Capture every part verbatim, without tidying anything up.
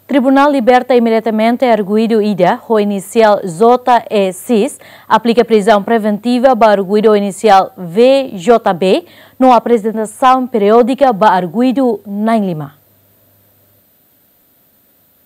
Tribunál liberta imediatamente arguidu ida ho inisiál J E X, aplika prizaun preventiva ba arguidu ho inisiál V J B, no aprezentasaun periódika ba arguidu na'in lima.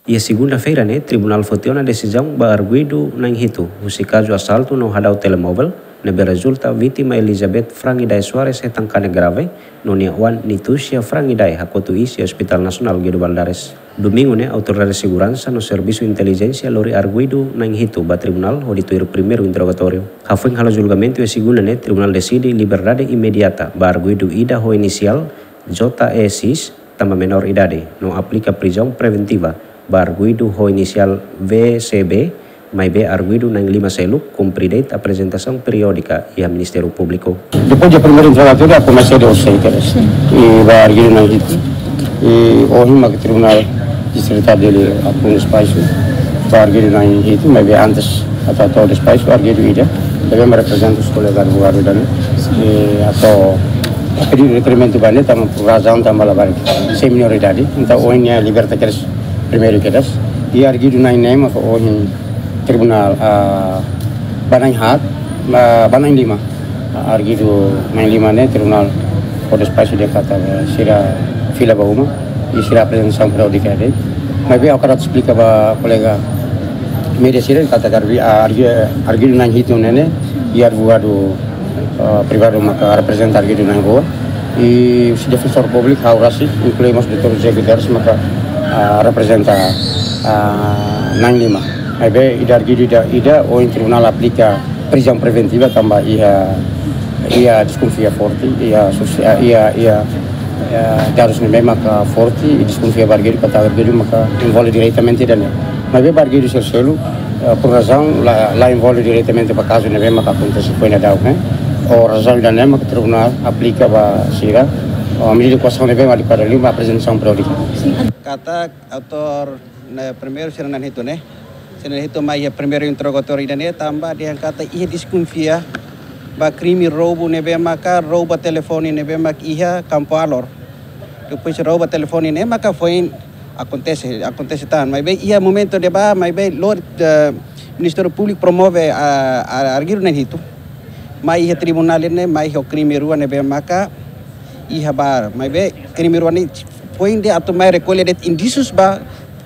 Iha segunda-feira ne'e, tribunál foti ona desizaun ba arguidu na'in hitu husi kazu asaltu no hadau telemóvel ne'ebé rezulta vítima Elizabeth Frangidae Soares hetan kanek grave, no nia oan Nitucia Frangidae hakotu iis iha Hospital Nasionál Guido Valadares. Domingu ne'e, autoridade seguransa no servisu intelijénsia lori arguidu na'in hitu ba tribunál hodi tuir primeiru interrogatóriu. Hafoin halo julgamentu iha segunda ne'e, tribunál deside liberdade imediata ba arguidu ida ho inisiál J E X, tanba menór idade, no aplika prizaun preventiva ba arguidu ho inisiál V C B, maibé arguidu na'in lima seluk kumpre de'it aprezentasaun periódika iha Ministériu Públiku. Depois de primeiro interrogatório, a comecei de os seis, e ba arguidu na'in hitu. E ohin mak tribunál distritál Dili abre despaxu ba arguidu na'in hitu, maibé antes atu hato'o despaxu arguidu ida, ne'ebé mak reprezenta os kolega advogadu ida-ne'e, e atu pedidu requerimentu ba ne'e tanba por razaun tanba labarik sei menór idade. Entaun ohin nia liberta kedas primeiru kedas. I arguidu na'in ne'e mak ohin tribunál, ah, ba na'in haat, ba, ba na'in lima. Ah, arguidu na'in lima ne'e tribunál fó despaxu dehan katak, eh, sira fila ba uma, i sira aprezentasaun periódika de'it. Maibé ha'u hakarak esplika ba kolega média sira katak argi-, ah, argi-, arguidu na'in hitu ne'e ne'e, i advogadu, ah, privadu maka reprezenta arguidu na'in rua. I husi defensór públiku ha'u rasik, inklui mós doutór José Guterres maka, ah, reprezenta, ah, na'in lima. Maibé ida arguidu ida, ida ohin tribunál aplika prizaun preventiva tanba iha, iha deskonfia forte, iha sosia-, iha, iha, iha dadus ne'ebé maka forte, i deskonfia ba arguidu katak arguidu maka envolve diretamente ida-ne'e. Maibé ba arguidu sira seluk, eh, por razaun la, la envolve diretamente ba kazu ne'ebé maka akontese foin daudaun ne'e. Ho razaun ida-ne'e maka tribunál aplika ba sira, eh, medida koasaun ne'ebé mak adekuadu liu ba aprezentasaun periódika. Katak autór ne'e primeiru sira na'in hitu ne'e. Sira na'in hitu mai iha primeiru interrogatóriu ida-ne'e tanba dehan katak iha deskonfia ba krime roubu ne'ebé maka rouba telefone ne'ebé maka iha Kampu Alor. Depois rouba telefone ne'e maka foin akontese, akontese tan. Maibé iha momentu ne'ebá, maibé lori, eh, Ministériu Públiku promove, ah, ah, arguidu na'in hitu. Mai iha tribunál ne'e, mai iha krime rua ne'ebé maka iha ba, maibé krime rua ne'e foin de'it atu mai rekolle de'it indísius ba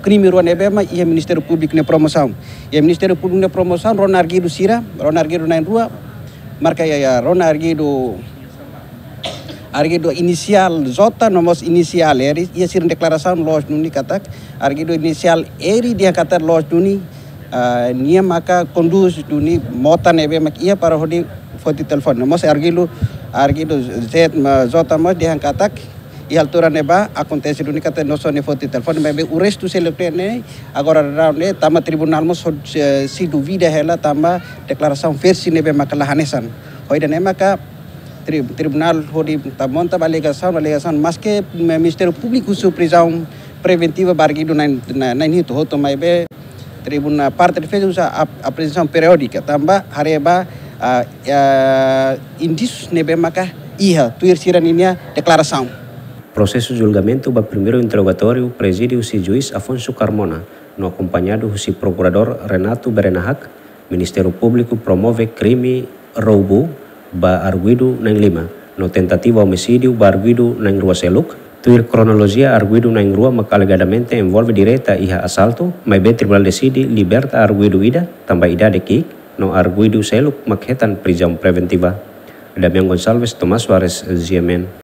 krime rua ne'ebé mak iha Ministériu Públiku nia promosaun. Iha Ministériu Públiku nia promosaun rona arguidu sira, rona arguidu na'in rua, marka iha, iha, rona arguidu, arguidu inisiál J no mós inisiál R, iha sira-nia deklarasaun loos duni katak arguidu inisiál R dehan katak loos duni, ah, nia maka kondús duni mota ne'ebé mak iha para hodi foti telefone. No mós arguidu, arguidu Z, ma, J mós dehan katak iha altura ne'ebá akontese duni katak nusá nia foti telefone, maibé o restu seluk ne'e agora daudaun ne'e tanba tribunál mós, eh, sei duvida hela tanba deklarasaun versi ne'ebé maka la hanesan. Ho ida-ne'e maka tri-, tribunál hodi atu monta ba alegasaun, alegasaun maske Ministériu Públiku husu prizaun preventiva ba arguidu na'in, na'in, na'in hitu hotu, maibé tribunál parte defeza husu ap-, aprezentasaun periódika tanba haree ba, ah, ah, indísius ne'ebé maka iha tuir sira-ninia deklarasaun. Prosesu julgamentu ba primeiru interrogatóriu prezide husi juís Afonso Carmona, no akompañadu husi prokuradór Renato Berenahak. Ministériu Públiku promove krime roubu ba arguidu na'in lima, no tentativa omisídiu ba arguidu na'in rua seluk. Tuir kronolojia, arguidu na'in rua maka alegadamente envolve direta iha asaltu, maibé tribunál deside liberta arguidu ida tanba idade ki'ik, no arguidu seluk maka hetan prizaun preventiva. Damian Gonçalves, Tomás Soares, G M N.